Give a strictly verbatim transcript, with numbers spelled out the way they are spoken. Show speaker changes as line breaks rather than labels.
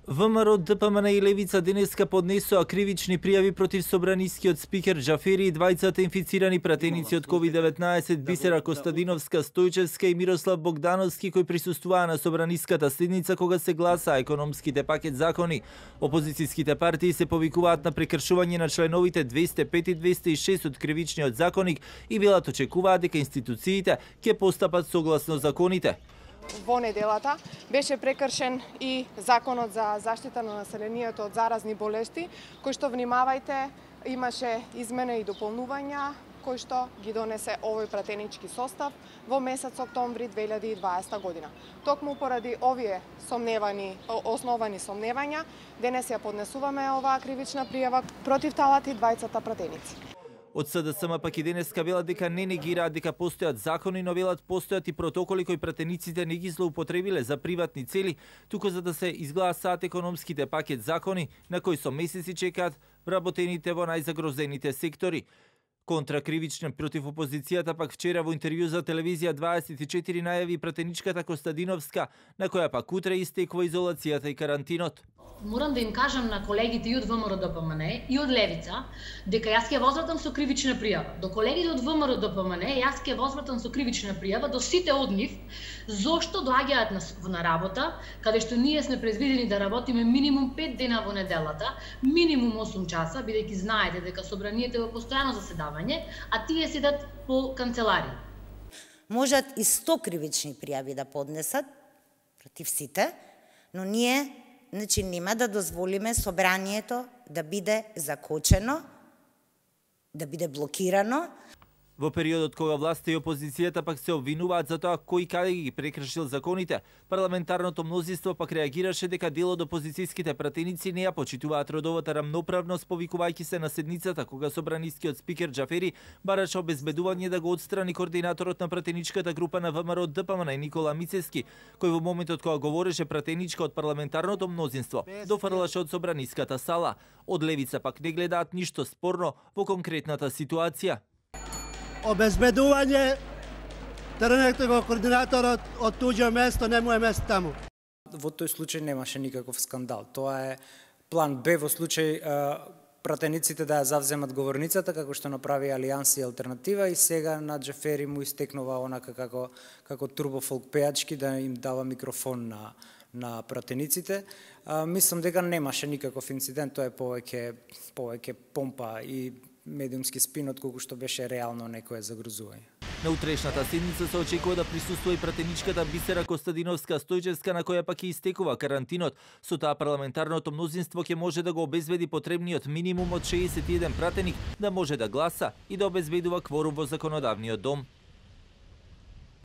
ВМРО, ДПМН и Левица денеска поднесоа кривични пријави против собранискиот спикер Џафери и двајцата инфицирани пратеници од ковид деветнаесет Бисера Костадиновска Стојчевска и Мирослав Богдановски кои присуствуваа на собраниската седница кога се гласаа економските пакет закони. Опозицијските партии се повикуваат на прекршување на членовите двесте пет и двесте и шест од кривичниот законник и велат очекуваат дека институциите ќе постапат согласно законите.
Во неделата беше прекршен и Законот за заштита на населението од заразни болести, кој што, внимавајте, имаше измена и дополнувања кој што ги донесе овој пратенички состав во месец октомври две илјади и дваесета година. Токму поради овие сомневани, основани сомневања, денес ја поднесуваме оваа кривична пријава против талати двајцата пратеници.
Од СДСМ пак и денеска велат дека не негираат дека постојат закони, но велат постојат и протоколи кои пратениците не ги злоупотребиле за приватни цели, туку за да се изгласаат економските пакет закони на кои со месеци чекаат вработените во најзагрозените сектори. Контракривичен против опозицијата пак вчера во интервју за телевизија дваесет и четири најави пратеничката Костадиновска, на која пак утре истекува изолацијата и карантинот.
Морам да им кажам на колегите и од ВМРО ДПМН и од Левица дека јас ќе возвратам со кривична пријава. До колегите од ВМРО ДПМН јас ќе возвратам со кривична пријава до сите од нив зошто доаѓаат на, на работа, каде што ние сме предвидени да работиме минимум пет дена во неделата, минимум осум часа, бидејќи знаете дека собранието е во постојано заседавање, а тие седат по канцеларии.
Можат и сто кривични пријави да поднесат против сите, но ние Значи, нема да дозволиме собранието да биде закочено, да биде блокирано.
Во периодот кога власта и опозицијата пак се обвинуваат за тоа кој каде ги прекршил законите, парламентарното мнозинство пак реагираше дека дел од опозицијските пратеници не ја почитуваат родовата рамноправност, повикувајќи се на седницата кога собранискиот спикер Џафери бараше обезбедување да го отстрани координаторот на пратеничката група на ВМРО ДПМН Никола Мицевски, кој во моментот кога говореше пратеничка од парламентарното мнозинство, дофрлаше од собраниската сала. Од Левица пак не гледаат ништо спорно во конкретната ситуација.
Обезбедување, тргнете го координаторот од туѓо место, не му е место таму.
Во тој случај немаше никаков скандал. Тоа е план Б во случај пратениците да ја завземат говорницата, како што направи Алијанс и Алтернатива, и сега на Џафери му истекнува онака како, како турбофолк пејачки да им дава микрофон на, на пратениците. А, мислам дека немаше никаков инцидент, тоа е повеќе, повеќе помпа и медиумски спин, отколку што беше реално некое загрозување.
На утрешната седница се очекува да присуствува и пратеничката Бисера Костадиновска Стојчевска, на која пак и истекува карантинот. Со таа парламентарното мнозинство ќе може да го обезбеди потребниот минимум од шеесет и еден пратеник да може да гласа и да обезбедува кворум во законодавниот дом.